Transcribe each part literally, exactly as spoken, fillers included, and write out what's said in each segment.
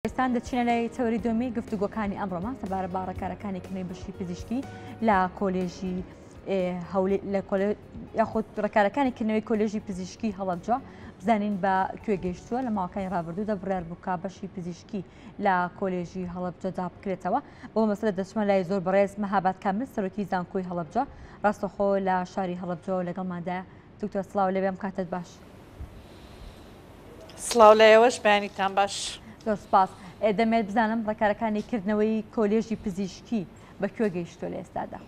ئێستان دەچینە لای تەوەری دووەمی گفتوگۆکانی ئەمڕۆمان سەبارەت بە ڕێکارەکانی کردنەوەی بەشی پزیشکی لە کۆلێژی لە یاخود ڕێکارەکانی کردنەوەی کۆلێژی پزیشکی هەڵەبجە بزانین بە کوێ گەیشتووە. لە ماوەکانی ڕابردوودا بڕیار بوو کە بەشی پزیشکی لە کۆلێژی هەڵەبجەدا بکرێتەوە. بۆ مەسەلە دەچمە لای زۆر بەڕێز مەهاباد کامل سەرۆکی زانکۆی هەڵەبجە ڕاستەخۆ لە شاری هەڵەبجەوە لەگەڵماندا. دکتۆر سڵاو لێبێم، کاتت باش. سڵاو لە ئێوەش، بەیانیتان باش. زۆر سپاس. دەمێت بزانم ڕێکارەکانی کردنەوەی کۆلێژی پزیشکی بە کوێ گەیشتووە لە ئێستادا؟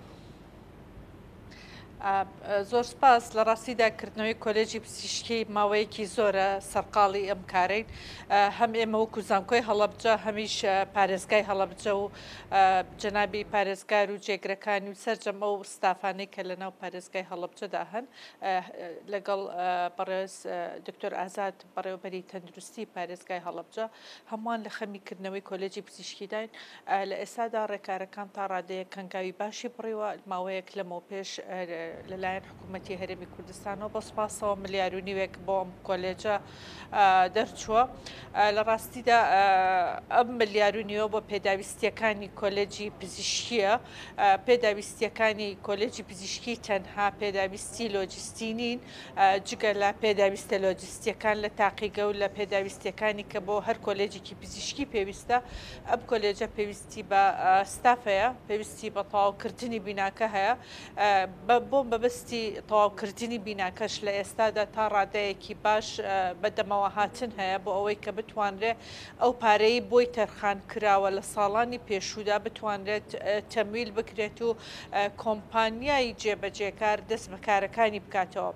زۆر سپاس. لە ڕاستیدا کردنەوەی کۆلێژی پزیشکی ماوەیەکی زۆرە سەرقاڵی ئەم کارین، هەم ئێمە وەکو زانکۆی هەڵەبجە، هەمیش پارێزگای هەڵەبجە و جەنابی پارێزگار و جێگرەکانی و سەرجەم ئەو ستافانەی کە لەناو پارێزگای هەڵەبجەدا هەن، لەگەڵ بەڕێز دکتۆر ئازاد بەڕێوەبەری تەندروستی پارێزگای هەڵەبجە، هەمووان لە خەمی کردنەوەی کۆلێژی پزیشکیداین. لە ئێستادا ڕێکارەکان تا ڕادەیەک هەنگاوی باشی بڕیوە. ماوەیەک لەمەو پێش لەلایەن حکوومەتی هەرێمی کوردستانەوە بە سوپاسەوە ملیار و نیوێک بۆ ئەم کۆلێجە دەرچووە. لە ڕاستیدا ئەم ملیار و نیوە بۆ پێداویستیەکانی کۆلێجی پزیشکیە. پێداویستیەکانی کۆلێجی پزیشکی تەنها پێداویستی لۆجستی نین، جگە لە پێداویستە لۆجستیەکان لە تاقیگە و لە پێداویستیەکانی کە بۆ هەر کۆلێجێکی پزیشکی پێویستە. ئەم کۆلێجە پێویستی بە ستافەیە، پێویستی بە تەواوکردنی بیناکە هەیە. بۆ بەبەستی تەواوکردنی بیناکەش لە ئێستادا تا ڕادەیەکی باش بەدەمەوە هاتن هەیە بۆ ئەوەی کە بتوانرێت ئەو پارەی بۆی تەرخان کراوە لە ساڵانی پێشوودا بتوانرێت تەمویل بکرێت و کۆمپانیای جێبەجێکار دەست بە کارەکانی بکاتەوە.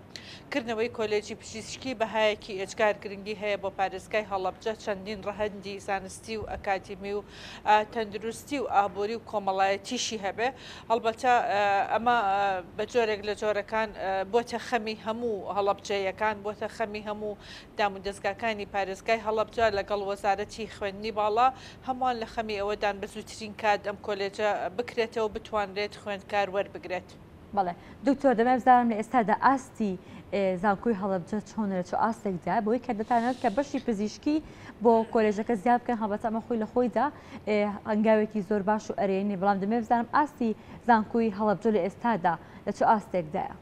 کردنەوەی کۆلێجی پزیشکی بەهایەکی ئێجگار گرنگی هەیە بۆ پارێزگای هەڵەبجە. چەندین ڕەهەندی زانستی و ئەکادیمی و تەندروستی و ئابووری و کۆمەڵایەتیشی هەبێ. هەڵبەتە ئەمە بە جۆرێک لە جۆرەکان بۆتە خەمی هەموو هەڵەبجەیەکان، بۆتە خەمی هەموو دام و دەستگاکانی پارێزگای هەڵەبجە لەگەڵ وەزارەتی خوێندنی باڵا. هەمووان لە خەمی ئەوەدان بە زووترین کات ئەم کۆلێجە بکرێتەوە بتوانرێت خوێندکار وەربگرێت. بەڵێ دکتۆر، دەمێت بزانم لە ئێستادا ئاستی زانکۆی هەڵەبجە چۆنە، لە چ ئاستێکدا بۆی کە دەتانەوێت کە بەشی پزیشکی بۆ کۆلێژەکە زیاد بکەن؟ هەڵبەتە ئەمە خۆی لە خۆیدا هەنگاوێکی زۆر باش و ئەرێنی، بەڵام دەمێت بزانم ئاستی زانکۆی هەڵەبجە لە ئێستادا لە چ ئاستێکدایە؟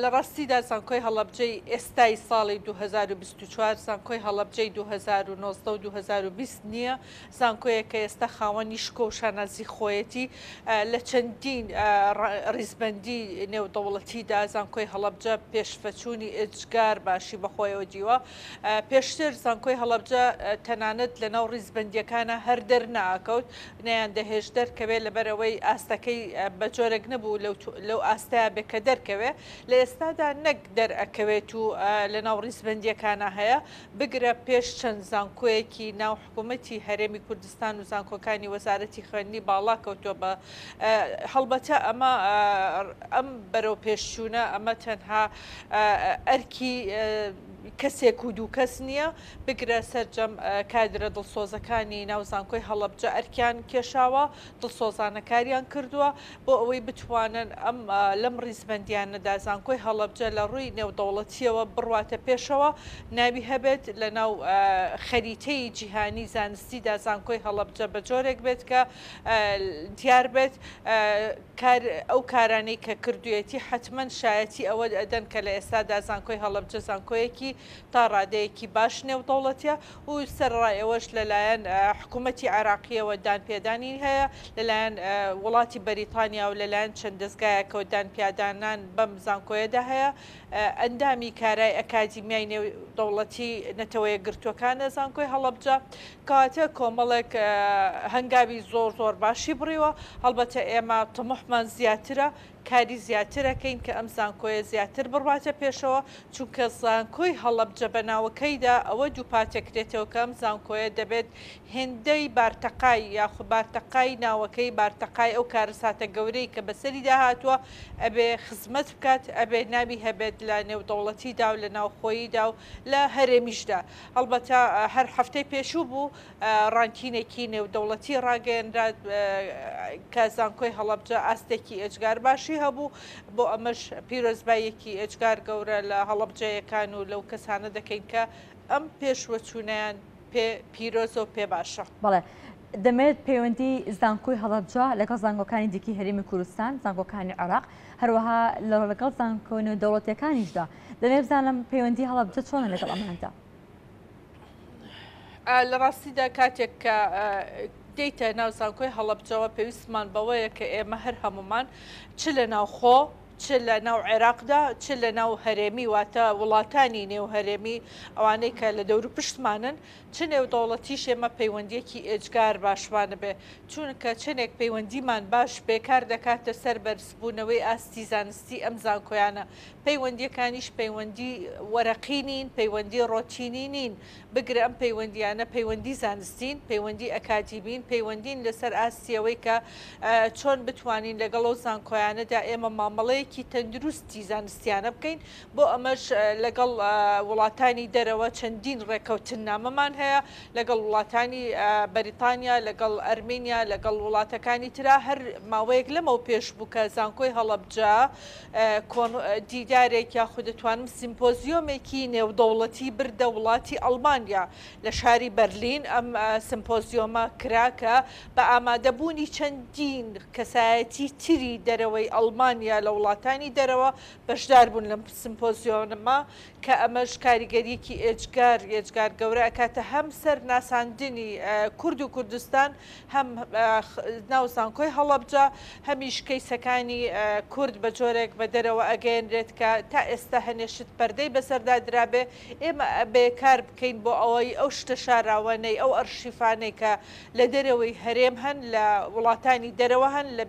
لە ڕاستیدا زانکۆی هەڵەبجەی ئێستای ساڵی دوو هەزار و بیست و چوار زانکۆی هەڵەبجەی دوو هەزار و نۆزدە و دوو هەزار و بیست نییە. زانکۆیە کە ئێستا خاوەنی شکۆ و شانازی خۆیەتی. لە چەندین ڕیزبەندی نێودەوڵەتیدا زانکۆی هەڵەبجە پێشفەچوونی ئێجگار باشی بەخۆیەوە دیوە. پێشتر زانکۆی هەڵەبجە تەنانەت لەناو ڕیزبەندیەکانە هەر دەرناکەوت، نەیان دەهێشت دەرکەوێت لەبەرەوەی ئاستەکەی بە جۆرێک نەبوو لەو ئاستەیە بێ کە دەرکەوێت. لە ئێستادا نەک دەرئەکەوێت و لەناو ڕیزبەندیەکانە هەیە، بگرە پێش چەند زانکۆیەکی ناو حکوومەتی هەرێمی کوردستان و زانکۆکانی وەزارەتی خوێندنی باڵا کەوتووە بە هەڵبەتە ئەمە ئەم بەرەو پێشچوونە ئەمە تەنها ئەرکی کەسێک و دوو کەس نییە، بگرە سەرجەم کادرە دڵسۆزەکانی ناو زانکۆی هەڵەبجە ئەرکیان کێشاوە، دڵسۆزانەکاریان کردووە بۆ ئەوەی بتوانن ئەم لەم ڕیزبەندیانەدا زانکۆی هەڵەبجە لە ڕووی نێودەوڵەتیەوە بڕواتە پێشەوە، ناوی هەبێت لە ناو خەریتەی جیهانی زانستیدا زانکۆی هەڵەبجە بە جۆرێک بێت کە دیار بێت ئەو کارانەی کە کردوێتی حتمما شایەتی ئەوە ئەدەن کە لە ئێستادا زانکۆی هەڵەبجە زانکۆیەکی تا ڕادەیەکی باش نێودەوڵەتیە و سەرڕای ئەوەش لەلایەن حکوومەتی عێراقیەوە دانپێدانی هەیە، لەلایەن وڵاتی بەریتانیا و لەلایەن چەند دەستگایەکەوە دانپیادانان بەم زانکۆیەدا هەیە. ئەندامی کارای ئەکادیمیای نێودەوڵەتی نەتەوەیە گرتووەکانە زانکۆی هەڵەبجە، کەواتە کۆمەڵێک هەنگاوی زۆر زۆر باشی بڕیوە. هەڵبەتە ئێمە تموحمان زیاترە، کاری زیاترەکەین کە ئەم زانکۆیە زیاتر بڕواتە پێشەوە، چونکە زانکۆی هەڵەبجە بە ناوەکەیدا ئەوە دووپاتەکرێتەوە کە ئەم زانکۆیە دەبێت هێندەی بارتەقای یاخود بارتەقای ناوەکەی بارتەقای ئەو کارەساتە گەورەی کە بەسەریدا هاتووە ئەبێ خزمەت بکات، ئەبێ ناوی هەبێت لە نێودەوڵەتیدا و لە ناوخۆییدا و لە هەرێمیشدا. هەڵبەتە هەر هەفتەی پێشوو بوو ڕانکینێکی نێودەوڵەتی ڕاگەیەنرا کە زانکۆی هەڵەبجە ئاستێکی ئێجگار باشی هەبوو. بۆ ئەمەش پیرۆزباییەکی ئێجگار گەورە لە هەڵەبجەیەکان و لەو کەسانە دەکەین کە ئەم پێشوەچوونیان پێ پیرۆزە و پێ باشە. بەڵێ، دەمێت پەیوەندی زانکۆی هەڵەبجە لەگەڵ زانکۆکانی دیکەی هەرێمی کوردستان، زانکۆکانی عێراق، هەروەها لەگەڵ زانکۆ نێودەوڵەتیەکانیشدا، دەمێت بزانم پەیوەندی هەڵەبجە چۆنە لەگەڵ ئەماندا؟ لە ڕاستیدا کاتێک کە دێیتە ناو زانکۆی هەڵەبجەوە پێویستمان بەوەیە کە ئێمە هەر هەمومان چ لە ناوخۆ چ لە ناو عێراقدا چ لە ناو هەرێمی، واتە وڵاتانی نێو هەرێمی ئەوانەی کە لە دەور و پشتمانن، چ نێودەوڵەتیش ئێمە پەیوەندیەکی ئێجگار باشمانە بێ، چونکە چەندێک پەیوەندیمان باش بێکار دەکاتە سەر بەرزبوونەوەی ئاستی زانستی ئەم زانکۆیانە. پەیوەندیەکانیش پەیوەندی وەرەقی نین، پەیوەندی ڕۆتینی نین، بگرە ئەم پەیوەندیانە پەیوەندی زانستین، پەیوەندی ئەکادیمین، پەیوەندین لەسەر ئاستیەوەی کە چۆن بتوانین لەگەڵ ئەو زانکۆیانەدا ئێمە مامەڵەیەکی تەندروستی زانستیانە بکەین. بۆ ئەمەش لەگەڵ وڵاتانی دەرەوە چەندین ڕێکەوتننامەمان هەیە، لەگەڵ وڵاتانی بەریتانیا، لەگەڵ ئەرمینیا، لەگەڵ وڵاتەکانی ترا. هەر ماوەیەک لەمەو پێش بوو کە زانکۆی هەڵەبجە دیدارێک یاخود دەتوانم سیمپۆزیۆمێکی نێودەوڵەتی بردە وڵاتی ئەڵمانیا لە شاری بەرلین. ئەم سیمپۆزیۆمە کرا کە بە ئامادەبوونی چەندین کەسایەتی تری دەرەوەی ئەڵمانیا لە وڵاتانی دەرەوە بەشدار بوون لەم سیمپۆزیۆمە، کە ئەمەش کاریگەریەکی ئێجگار ئێجگار گەورە ئەکاتە هەم سەر ناساندنی کورد و کوردستان، هەم ناو زانکۆی هەڵەبجە، هەمیش کەیسەکانی کورد بە جۆرێک بە دەرەوە ئەگەیەنرێت کە تا ئێستا هەنێشت پەردەی بەسەردا درابێ. ئێمە بێکار بکەین بۆ ئەوەی ئەو شتە شاراوانەی، ئەو ئەرشیفانەی کە لە دەرەوەی هەرێم هەن، لە وڵاتانی دەرەوە هەن، لە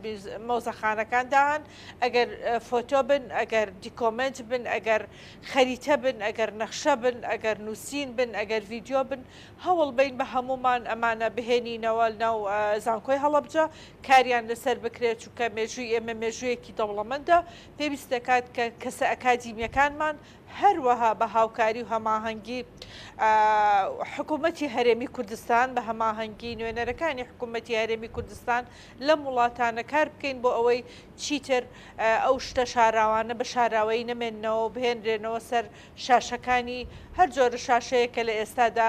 مۆزەخانەکاندا هەن، ئەگەر فۆتۆ بن، ئەگەر document بن، ئەگەر خەریتە بن، ئەگەر نەخشە بن، ئەگەر نووسین بن، ئەگەر ڤیدیۆ بن، هەوڵ بین بە هەمومان ئەمانە بهێنینەوە ناو زانکۆی هەڵەبجە، کاریان لەسەر بکرێت، چونکە مێژووی ئێمە مێژوویەکی دەوڵەمەندە، پێویست دەکات کە کەسە ئەکادیمیەکانمان هەروەها بە هاوکاری و هەماهەنگی حکوومەتی هەرێمی کوردستان، بە هەماهەنگی نوێنەرەکانی حکوومەتی هەرێمی کوردستان لەم وڵاتانە کار بکەین بۆ ئەوەی چیتر ئەو شتە شاراوانە بە شاراوەیی نەمێننەوە و بهێنرێنەوە سەر شاشەکانی هەر جۆرە شاشەیە کە لە ئێستادا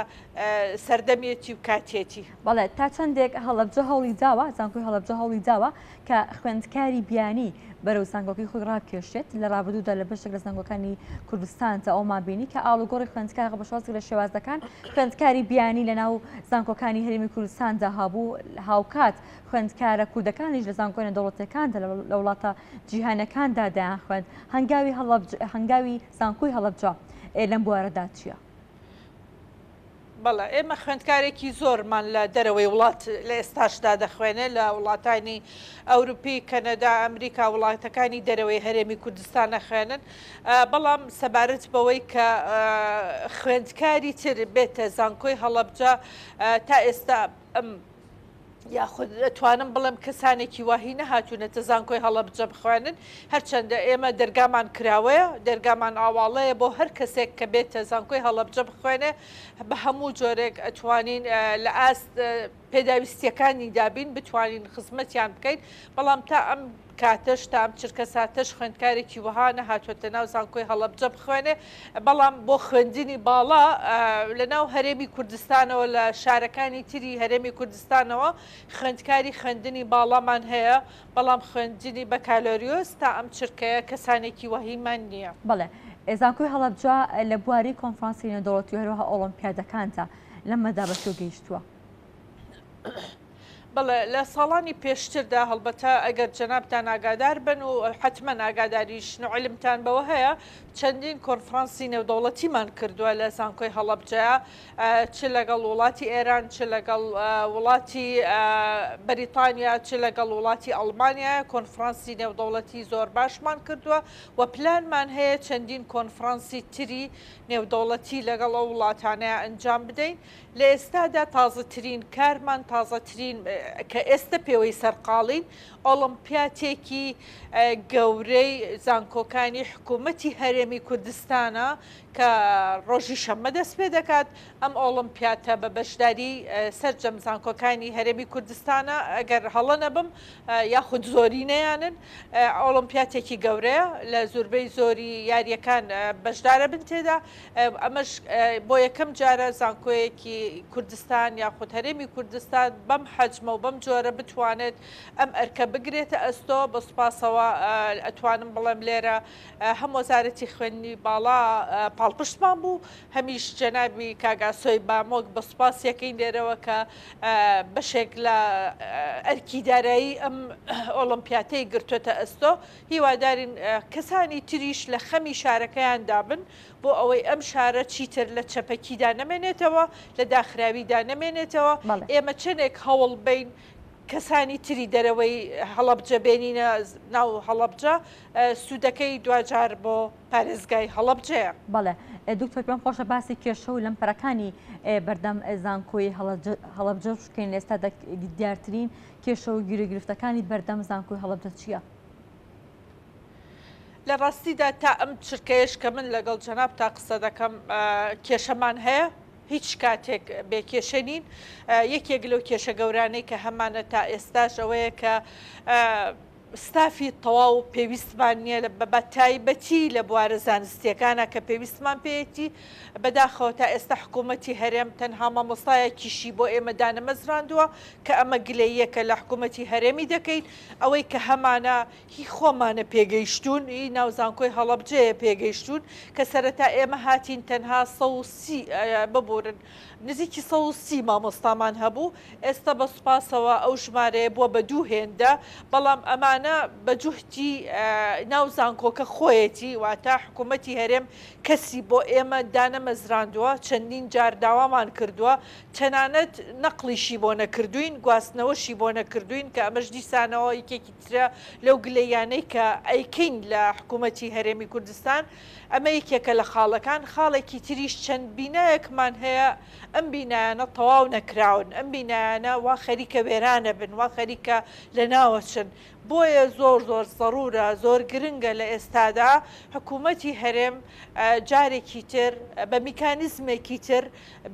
سەردەمیەتی و کاتیەتی. بەڵێ، تا چەندێک هەڵەبجە هەوڵی داوە، زانکۆی هەڵەبجە هەوڵی داوە کە خوێندکاری بیانی بەرەو زانکۆکەی خۆی ڕابکێشێت. لە ڕابردوودا لە بەشێک لە زانکۆکانی کوردستان تا ئەومان بینی کە ئاڵوگۆڕی خوێندکار بە شێوازێک لە شێوازەکان خوێندکاری بیانی لە ناو زانکۆکانی هەرێمی کوردستاندا هەبوو، هاوکات خوێندکارە کوردەکانیش لە زانکۆ نێودەوڵەتیەکاندا لە وڵاتە جیهانەکاندا دەیان خوێند. هەنگاوی هەنگاوی زانکۆی هەڵەبجە لەم بوارەدا چییە؟ بەڵێ، ئێمە خوێندکارێکی زۆرمان لە دەرەوەی وڵات لە ئێستاشدا دەخوێنێ، لە وڵاتانی ئەوروپی، کەنەدا، ئەمریکا، وڵاتەکانی دەرەوەی هەرێمی کوردستان نەخوێنن. بەڵام سەبارەت بەوەی کە خوێندکاری تر بێتە زانکۆی هەڵەبجە تا ئێستا ئەم یاخود دەتوانم بڵێم کەسانێکی واهی نەهاتوونەتە زانکۆی هەڵەبجە بخوێنن. هەرچەندە ئێمە دەرگامان کراوەیە، دەرگامان ئاواڵەیە بۆ هەر کەسێک کە بێتە زانکۆی هەڵەبجە بخوێنێ، بە هەموو جۆرێک ئەتوانین لە ئاست پێداویستیەکانی دابین بتوانین خزمەتیان بکەین. بەڵام تا ئەم کاتەش، تا ئەم چرکە ساتەش خوێندکارێکی وەها نەهاتوێتە ناو زانکۆی هەڵەبجە بخوێنێ. بەڵام بۆ خوێندنی باڵا لە ناو هەرێمی کوردستانەوە، لە شارەکانی تری هەرێمی کوردستانەوە خوێندکاری خوێندنی باڵامان هەیە، بەڵام خوێندنی بەکالۆریۆس تا ئەم چرکەیە کەسانێکی وەهیمان نییە. بەڵێ، زانکۆی هەڵەبجە لە بواری کۆنفرانسی نێودەوڵەتی و هەروەها ئۆڵۆمپیادەکاندا لەمەدا بە کوێ گەیشتووە؟ بەڵێ، لە ساڵانی پێشتردا هەڵبەتە ئەگەر جەنابتان ئاگادار بن و حتمما ئاگاداریشن و علمتان بەوە هەیە، چەندین کۆنفرانسی نێودەوڵەتیمان کردووە لە زانکۆی هەڵەبجەیە، چ لەگەڵ وڵاتی ئێران، چ لەگەڵ وڵاتی بەریتانیا، چ لەگەڵ وڵاتی ئەڵمانیا. کۆنفرانسی نێودەوڵەتی زۆر باشمان کردووە و پلانمان هەیە چەندین کۆنفرانسی تری نێودەوڵەتی لەگەڵ ئەو وڵاتانەیە ئەنجام بدەین. لە ئێستادا تازەترین کارمان، تازەترین کە ئێستا پێوەی سەرقاڵین ئۆڵمپیاتێکی گەورەی زانکۆکانی حکوومەتی هەرێمی کوردستانە کە ڕۆژی شەممە دەست پێ دەکات. ئەم ئۆڵمپیاتە بە بەشداری سەرجەم زانکۆکانی هەرێمی کوردستانە، ئەگەر هەڵە نەبم یاخود زۆرینەیانن. ئۆڵمپیاتێکی گەورەیە، لە زۆربەی زۆری یاریەکان بەشدارە بن تێدا. ئەمەش بۆ یەکەم جارە زانکۆیەکی کوردستان یاخود هەرێمی کوردستان بەم حەجمە و بەم جۆرە بتوانێت ئەم ئەرکە بگرێتە ئەستۆ. بە سوپاسەوە ئەتوانم بڵێم لێرە هەم وەزارەتی خوێندنی باڵا پاڵپشتمان بوو، هەمیش جەنابی کاگاسۆی بامۆک بە سوپاس یەکەین لێرەوە کە بەشێک لە ئەرکی دارایی ئەم ئۆڵمپیاتەی گرتوێتە ئەستۆ. هیوادارین کەسانی تریش لە خەمی شارەکەیاندا بن بۆ ئەوەی ئەم شارە چیتر لە چەپەکیدا نەمێنێتەوە، لە داخراویدا نەمێنێتەوە. ئێمە چەندێک هەوڵ بین کەسانی تری دەرەوەی هەڵەبجە بێنینە ناو هەڵەبجە، سوودەکەی دوجار بۆ پارێزگای هەڵەبجەیە. بەڵێ دکتۆر، پێم خۆشە باسی کێشە و لەمپەرەکانی بەردەم زانکۆی هەڵەبجە بکەین. ئێستا دیارترین کێشە و گیروگرفتەکانی بەردەم زانکۆی هەڵەبجە چییە؟ لە ڕاستیدا تا ئەم چرکەیەش کە من لەگەڵ جەناب تا قسە دەکەم کێشەمان هەیە، هیچ کاتێک بێکێشە نین. یەکێک لەو کێشە گەورانەی کە هەمانە تا ئێستاش ئەوەیە کە ستافی تەواو پێویستمان نییە، بە تایبەتی لە بوارە زانستیەکانە کە پێویستمان پێیەتی. بەداخەوە تا ئێستا حکوومەتی هەرێم تەنها مامۆستایەکیشی بۆ ئێمە دانەمەزراندووە کە ئەمە گلەییەکە لە حکوومەتی هەرێمی دەکەین. ئەوەی کە هەمانە هی خۆمانە پێگەیشتون، هی ناو زانکۆی هەڵەبجەیە پێگەیشتون کە سەرەتا ئێمە هاتین تەنها سەد و سی ببورن نزیکی سەد و سی مامۆستامان هەبوو. ئێستا بە سوپاسەوە ئەو ژمارەیە بووە بە دوو هێندە، بەڵام ئەمانە بە جوهتی ناو زانکۆکە خۆیەتی، واتە حکوومەتی هەرێم کەسی بۆ ئێمە دانەمەزراندووە، چەندین جار داوامان کردووە، تەنانەت نەقلیشی بۆ نەکردوین، گواستنەوەشی بۆ نەکردوین، کە ئەمەش دیسانەوە یەکێکی ترە لەو گلەیانەی کە ئەیکەین لە حکوومەتی هەرێمی کوردستان. ئەمە یەکێکە لە خاڵەکان. خاڵێکی تریش چەند بینایەکمان هەیە، ئەم بینایانە تەواو نەکراون، ئەم بینایانە وا خەریکە وێرانە بن، وا خەریکە لە ناوەچن. بۆیە زۆر زۆر زەرورە، زۆر گرنگە لە ئێستادا حکوومەتی هەرێم جارێکی تر بە میکانیزمێکی تر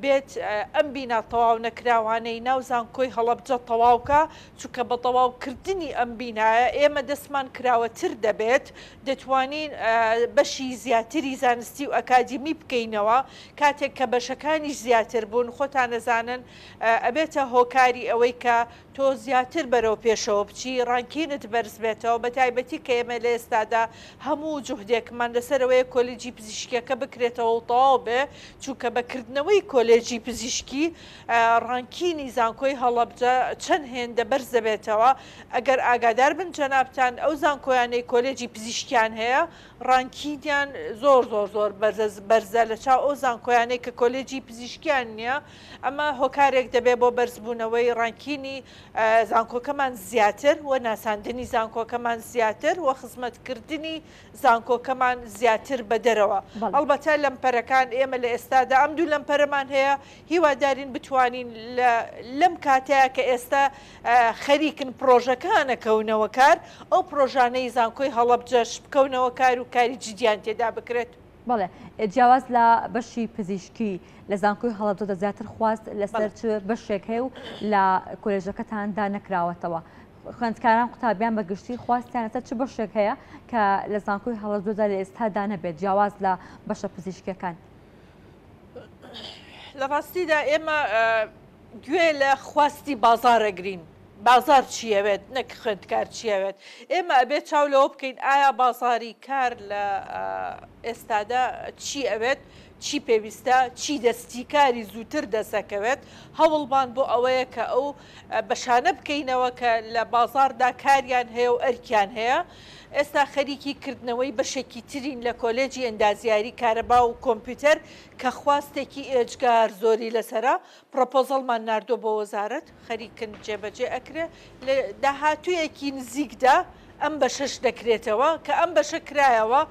بێت ئەم بینا تەواو نەکراوانەی ناو زانکۆی هەڵەبجە تەواوکە، چونکە بە تەواوکردنی ئەم بینایە ئێمە دەستمان کراوەتر دەبێت، دەتوانین بەشی زیاتری زانستی و ئەکادیمی بکەینەوە. کاتێک کە بەشەکانیش زیاتر بوون، خۆتان نەزانن ئەبێتە هۆکاری ئەوەی کە تۆ زیاتر بەرەو پێشەوە بچی، ڕانکینت بەرز بێتەوە. بە تایبەتی کە ئێمە لە ئێستادا هەموو جوهدێکمان لەسەرەوەیە کۆلێجی پزیشکیەکە بکرێتەوە و تەواو بێ، چونکە بەکردنەوەی کۆلێجی پزیشکی ڕانکینی زانکۆی هەڵەبجە چەند هێندە بەرز دەبێتەوە. ئەگەر ئاگادار بن جەنابتان، ئەو زانکۆیانەی کۆلێجی پزیشکیان هەیە ڕانکینیان زۆر زۆر زۆر بەرزە لە چاو ئەو زانکۆیانەی کە کۆلێجی پزیشکیان نییە. ئەمە هۆکارێک دەبێت بۆ بەرزبوونەوەی ڕانکینی زانکۆکەمان زیاتر و ناساندنی زانکۆکەمان زیاتر و خزمەتکردنی زانکۆکەمان زیاتر بە دەرەوە. ئەڵبەتە لەمپەرەکان ئێمە لە ئێستادا ئەم دوو لەمپەرەمان هەیە، هیوادارین بتوانین لەم کاتەیە کە ئێستا خەریکن پرۆژەکانە کەونەوە کار، ئەو پرۆژانەی زانکۆی هەڵەبجەش بکەونەوە کار و کاری جدیان تێدا بکرێت. بەڵێ، جیاواز لە بەشی پزیشکی لە زانکۆی هەڵەبجەدا زیاتر خواست لەسەر چ بەشێک هەیە و لە کۆلێژەکەتاندا نەکراوەتەوە؟ خوێندکاران قوتابیان بەگشتی خواستیان لەسەر چ بەشێک هەیە کە لە زانکۆی هەڵەبجەدا لە ئێستادا نەبێت، جیاواز لە بەشە پزیشکیەکان؟ لە ڕاستیدا ئێمە گوێ لە خواستی بازارەگرین. بازار چیەوێت نەک خوێندکار چیەوێت. ئێمە ئەبێت چاو لەوە بکەین ئایا بازاری کار لە ئێستادا چی ئەوێت، چی پێویستە، چی دەستیکاری زووتر دەسەکەوێت. هەوڵمان بۆ ئەوەیە کە ئەو بەشانە بکەینەوە کە لە بازاردا کاریان هەیە و ئەرکیان هەیە. ئێستا خەریکی کردنەوەی بەشێکی ترین لە کۆلێجی ئەندازیاری کارەبا و کۆمپیوتەر کە خواستێکی ئێجگار زۆری لەسەرە. پرۆپۆزەڵمان ناردووە بۆ وەزارەت، خەریکن جێبەجێ ئەکرێ. لە داهاتوویەکی نزیکدا ئەم بەشەش دەکرێتەوە، کە ئەم بەشە کرایەوە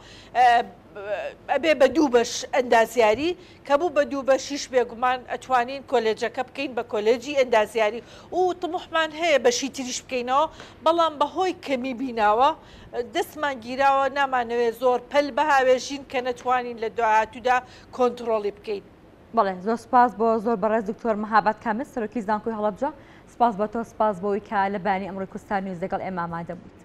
ئەبێ بە دوو بەش ئەندازیاری، کە بوو بە دوو بەشیش بێگومان ئەتوانین کۆلێجەکە بکەین بە کۆلێجی ئەندازیاری و تموحمان هەیە بەشی تریش بکەینەوە، بەڵام بەهۆی کەمی بیناوە دەستمان گیراوە، نامانەوێت زۆر پەل بهاوێژین کە نەتوانین لە داهاتوودا کۆنتڕۆڵی بکەین. بەڵێ زۆر سپاس بۆ زۆر بەڕێز دکتۆر مەهاباد کامل سەرۆکی زانکۆی هەڵەبجە، سپاس بە تۆ، سپاس بۆی کە لە بەیانی ئەمڕۆی کوردستان نیوز لەگەڵ ئێمە ئامادە بوویت.